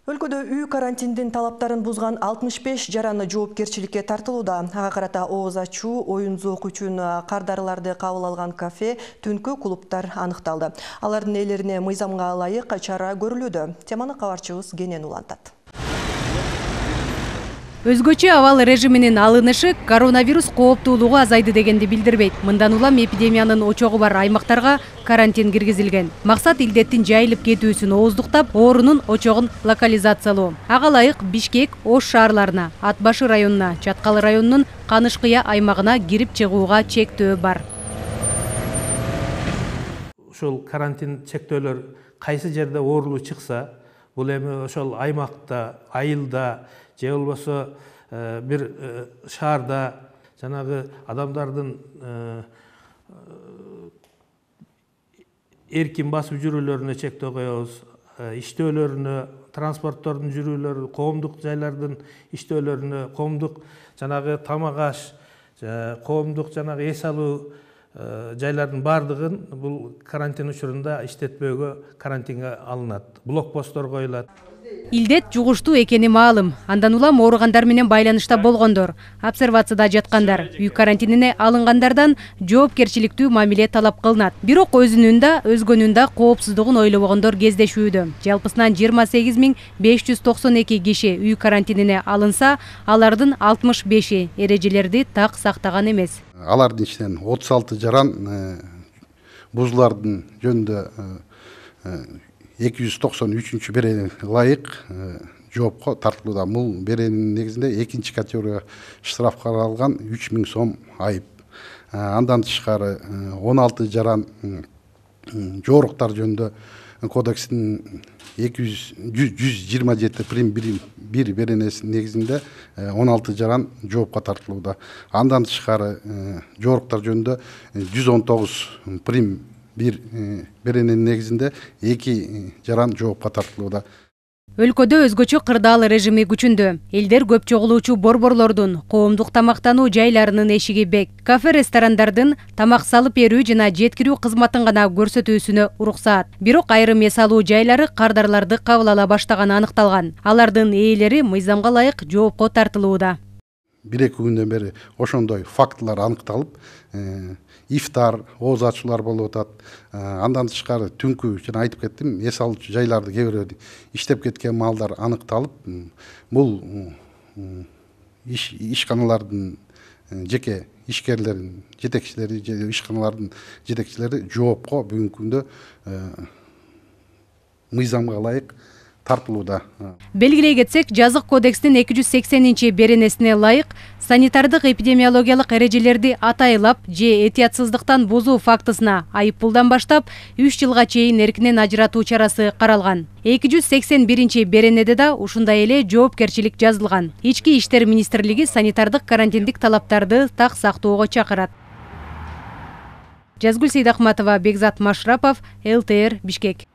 Өлкөдө үй карантиндин талаптарын бузган 65 жараны жоопкерчиликке тартылууда. Ага карата ооз ачуу, оюн-зоок үчүн кардарыларды кабыл алган кафе, түнкү клубтар аныкталды. Алардын ээлерине мыйзамга ылайык чара көрүлүүдө. Теманы кабарчыбыз Кенен улантат. Өзгөчө абал режиминин алынышы коронавирус кооптуулугу азайды дегенди билдирбейт. Мындан улам эпидемиянын очогу бар аймактарга карантин киргизилген. Максат илдеттин жайылып кетүүсүн ооздуктап, оорунун очогун локализациялоо. Ага ылайык Бишкек, Ош шаарларына, Ат башы районуна, Чаткалы районунун Канышкыя аймагына кирип чыгууга чектөө бар. Ошол карантин чектөөлөр кайсы жерде оорулуу чыкса, бул эми ошол аймакта, айылда же болбосо бир шаарда жанагы адамдардын эркин басып жүрүүлөрүнө чектөө коебуз, иштөөлөрүнө, транспорттордун жүрүүлөрү, коомдук жайлардын иштөөлөрүнө, коомдук жанагы тамак аш, коомдук жанагы эс алуу жайлардын бардыгын бул карантин учурунда иштетпөөгө карантинге алынат. Блокпосттор коюлат. Илдет жугуштуу экени маалым. Андан улам ооругандар менен байланышта болгондор, обсервацияда жаткандар, үй карантинине алынгандардан жоопкерчиликтүү мамиле талап кылынат. Бирок өзүнүн да, өзгөнүн да коопсуздугун ойлобогондор кездешүүдө. Жалпысынан 28592 киши үй карантинине алынса, алардын 65-и эрежелерди так сактаган эмес. Алардын ичинен 36 жаран бузулардын жөнүндө 293 беренеге ылайык жоопко тартылууда. Бул берененин негизинде экинчи категория штраф каралган 3000 сом айып. Андан тышкары 16 жаран жооруктар жөнүндө кодекстин 127 прим 1 беренесинин негизинде 16 жаран жоопко тартылууда. Андан тышкары жооруктар жөнүндө 119 прим 1 берененин негизинде 2 жаран жоопко тартылууда. Өлкөдө өзгөчө кырдаал режими күчүндө. Элдер көп чогулуучу борборлордун, коомдук тамактануу жайларынын эшиги бек. Кафе, ресторандардын тамак салып берүү жана жеткирүү кызматын гана көрсөтүүсүнө уруксаат. Бирок айрым эс алуу жайлары кардарларды кабыл ала баштаганы аныкталган. Алардын ээлери мыйзамга ылайык жоопко тартылууда. 1-2 күндөн бери ошондой фактылар аныкталып, ифтар, ооз ачуулар болуп атат. Андан тышкары түнкү жана айтып кеттим, эс алуучу жайларды кээ бирөө иштеп кеткен маалдар аныкталып, бул ишканалардын жеке ишкерлерин, жетекчилери же ишканалардын жетекчилери жоопко бүгүнкү күндө мыйзамга ылайык тартылууда. Белгилей кетсек, жазык кодекстин 280 беренесине ылайык санитардык эпидемиологиялык эрежелерди атайлап же этиятсыздыктан бузуу фактысына айыппулдан баштап 3 жылга чейин эркинен ажыратуу чарасы каралган. 281 беренеде да ушундай эле жоопкерчилик жазылган. Ички иштер министрлиги санитардык карантиндик талаптарды так сактоого чакырат. Жазгүл Сейдахматова, Бекзат Машрапов, ЛТР, Бишкек.